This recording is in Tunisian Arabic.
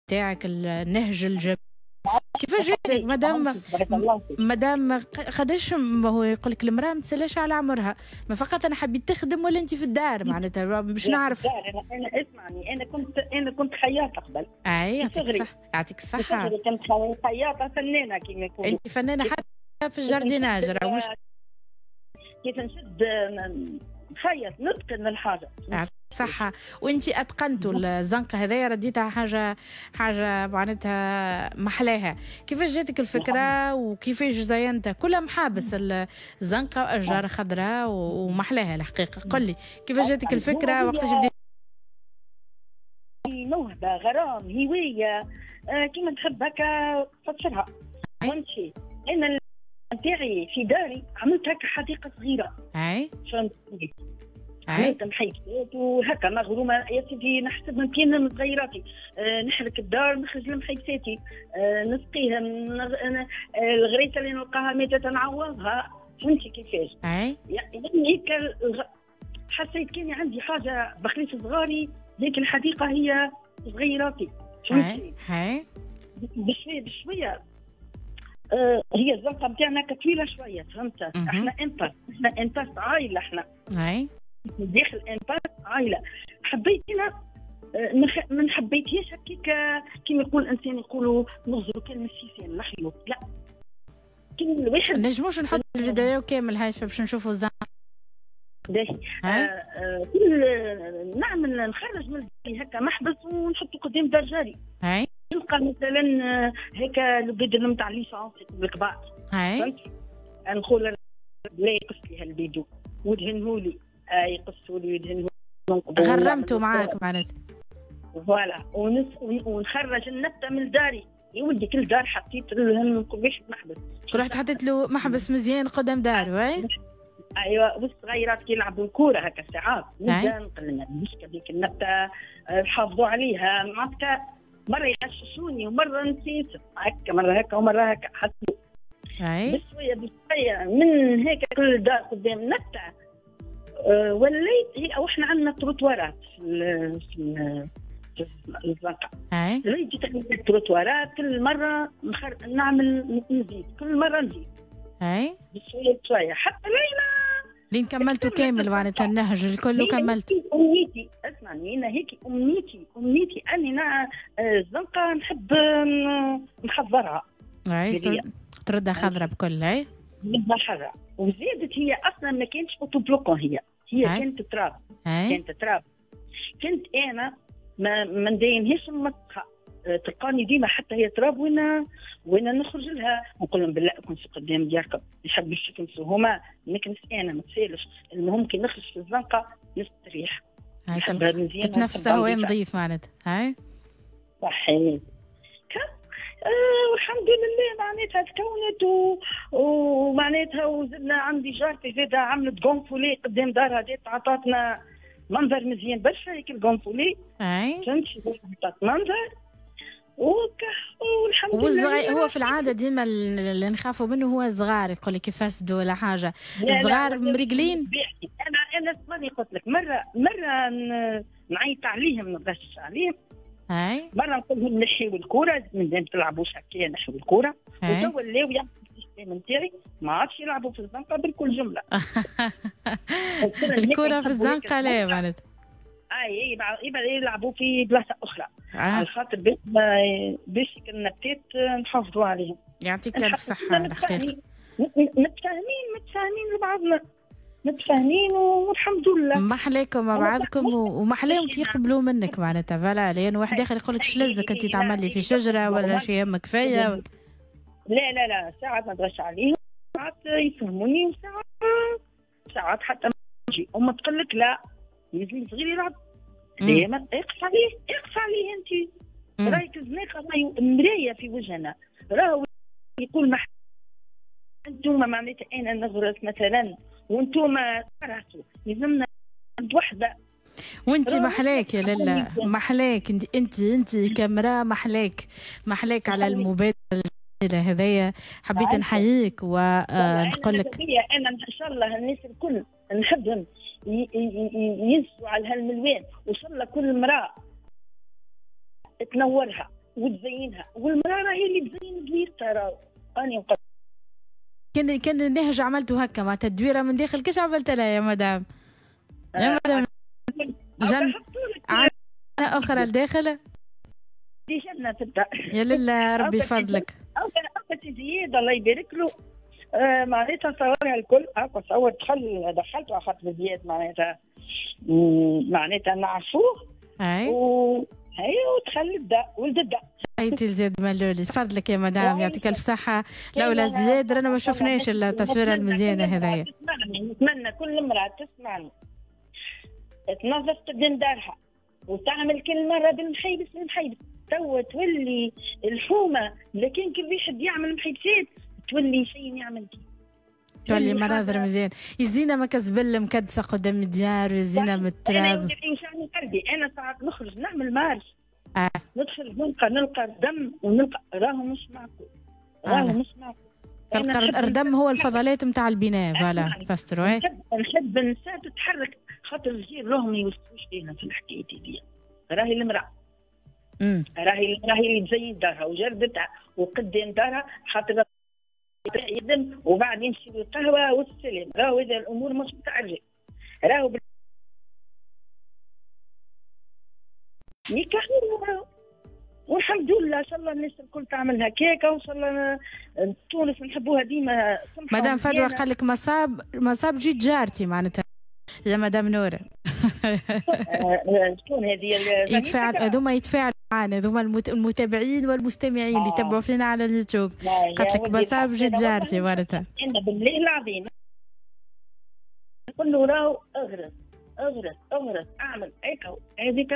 تاعك، النهج الجميل. كيفاش جاتك مدام؟ مدام قداش هو يقول لك المراة ما تسالش على عمرها، ما فقط انا حبيت تخدم ولا انت في الدار معناتها باش نعرف. انا اسمعني، انا كنت خياطة قبل. اي، يعطيك الصحه، يعطيك الصحه. كنت خياطة فنانة كما يقولوا. انت فنانة حتى في ال jardinage مش كيف نشد نخيط نتقن الحاجه. صح، وانت اتقنتوا الزنقة هذايا، رديتها حاجة حاجة معناتها محلاها. كيفاش جاتك الفكرة وكيفاش زينتها؟ كلها محابس الزنقة واشجار خضراء ومحلاها الحقيقه. قل لي كيفاش جاتك الفكره، وقتاش بديت؟ موهبه، غرام، هوايه، كيما تحب هكا تفسرها. فهمتي، انا نتاعي في داري عملت هكا حديقة صغيره. فهمت، عملت محيكات وهكا مغرومه يا سيدي، نحسب من كان من صغيراتي. نحرك الدار، نخرج لمحيكاتي، نسقيهم، الغريسه اللي نلقاها ماتت نعوضها. فهمتي كيفاش؟ يعني هيك حسيت كاني عندي حاجة بخليت صغاري، ذيك الحديقة هي صغيراتي. فهمتي؟ بشوية بشويه. هي الزنقة نتاعنا طويلة شويه، فهمت؟ احنا impasse، احنا impasse عائله، احنا داخل impasse عائله. حبيت انا ما حبيتهاش هكاك كيما يقول الانسان، يقولوا نغزروا كان السيسان الحيوط، لا، كل واحد نجموش نحط الفيديو كامل هاي باش نشوفوا الزنقه. باهي، كل نعمل نخرج من هكا محبس ونحطه قدام دار جاري. نلقى مثلا هكا البيدون نتاع l'essence الكبار. نقول لا يقص لي هالبيدو ودهنهولي، يقصوا لي ويدهنهولي. غرمتوا معاك معناتها. voilà، ونخرج النبتة من داري يا ولدي، كل دار حطيت لهم كل واحد محبس. رحت حطيت له محبس مزيان قدام دار وي. ايوه، والصغيرات كي يلعبوا الكورة هكا ساعات نبدا نقول لهم مش هذيك النبته، حافظوا عليها. معناتها مرة يغششوني ومرة نسيت هكا، مرة هكا ومرة هكا، حتى بشوية بشوية من هيك كل دار قدام نبته وليت هي، او احنا عندنا تروتوارات في الزنقه. وليت التروتوارات كل مرة نعمل نزيد، كل مرة نزيد. بشوية بشوية حتى لينا لين كملتوا كامل معناتها النهج الكل وكملت. امنيتي، اسمعني، انا هيك امنيتي، امنيتي اني الزنقة نحب نخضرها. اي، تردها خضرة بكل، اي. نردها خضرة، وزادت هي اصلا ما كانتش autobloquant، هي كانت تراب. كانت تراب. كنت انا ما ندينهاش المسخه، تلقاني ديما حتى هي تراب وين نخرج لها نقول لهم بالله كنت قدام دياركم، يحبوا يكنسوا هما، نكنس انا ما تسالش. المهم كي نخرج في الزنقة نستريح. تتنفس هواء نظيف معناتها، هاي. صحيح. والحمد لله معناتها تكونت ومعناتها وزدنا عندي جارتي زاده عملت gonfalon قدام دارها، جات عطاتنا منظر مزيان برشا هيك ال gonfalon. فهمت، عطات منظر والحمد لله. والصغير هو في العادة ديما اللي نخافوا منه هو الصغار، يقول لك يفسدوا ولا حاجه. الصغار مريقلين. انا اسمعني، قلت لك مرة مرة نعيط عليهم، نغش عليهم. مرة نقول لهم نحيوا الكوره، من تلعبوش هكايا، نحيوا الكوره. وتوا ولاو يعرفوا ال système نتاعي، ما عادش يلعبوا في الزنقة بالكل جمله. الكره في الزنقة لا معناتها. اي، يلعبوا في بلاصة اخرى. على خاطر باش النباتات نحافظوا عليهم. يعطيك الف صحة الحقيقه. متفاهمين، متفاهمين لبعضنا، متفاهمين والحمد لله. ما حلاكم مع بعضكم وما حلاهم كي يقبلوا منك معناتها، voilà، لان واحد اخر يقول لك شلزك انت تعمل لي في شجرة ولا شي يهمك فيا. لا لا لا، ساعات ما نغش عليهم، ساعات يفهموني، وساعات ساعات حتى أما تقول لك لا، لازم صغير يلعب، ديما اقف عليه، اقف عليه انت. رايك الزناقه راهي مراية في وجهنا، راهو يقول ما انتم معناتها انا نغرس مثلا وانتم ترهتوا، لازمنا وحده. وانت محلاك يا لالا، محلاك انت، انت انت كامراة، محلاك محلاك على المبادرة الجميلة هذايا. حبيت نحييك ونقول لك انا ان شاء الله الناس الكل نحبهم ينسوا على هالملوان، وان شاء الله كل امراة تنورها. وتزينها، والمراة راهي اللي تزين دويرتها. راهو اني كان النهج عملته هكا معناتها الدويره من داخل، كيش عملت لها يا مدام؟ يا مدام جن اخرى لداخل دي جنة تبدا. يا لله ربي يفضلك. او زياد الله يبارك له، معناتها صورها الكل هاكا صور، دخلته على خاطر زياد معناتها نعرفوه. اي ودخل الدا ولد الدا. ايتي زياد ملولي، فضلك يا مدام، يعطيك الف صحة. لولا زياد رانا ما شفناش التصويره المزيانه هذايا. نتمنى كل امراة تسمعني تنظف قدام دارها وتعمل كل مرة بالمحيبس المحيبس، توا تولي الحومه، لكن كل واحد يعمل محيبسات تولي شيء يعمل فيه، تولي مناظر مزيان. يزينا ما كزبل مكدسه قدام الديار ويزينا من التراب. انا قلبي انا ساعات نخرج نعمل marche، ندخل نلقى الدم ونلقى راهو مش معقول، راهو مش معقول. تلقى الدم هو الفضلات نتاع البناء. voilà فاسترو. نحب النساء تتحرك، خاطر الجيل راهم ما يوصلوش لينا في الحكاية دي. راهي المراة راهي اللي تزين دارها وجردتها وقدام دارها، خاطر يخدم وبعد يمشي للقهوة والسلام. راهو اذا الامور مش نتاع الرجال، راهو نكاح. والحمد لله ان شاء الله الناس الكل تعمل هكاكا، وان شاء الله تونس نحبوها ديما. مدام فدوى قال لك مصاب جيت جارتي معناتها يا مدام نورة. شكون هذه؟ يتفاعل هذوما، يتفاعلوا معنا هذوما المتابعين والمستمعين اللي يتبعوا فينا على اليوتيوب. قالت لك مصاب جيت جارتي معناتها. انا بالله العظيم نقول له راهو اغرس اغرس اغرس اعمل هيك هذيك.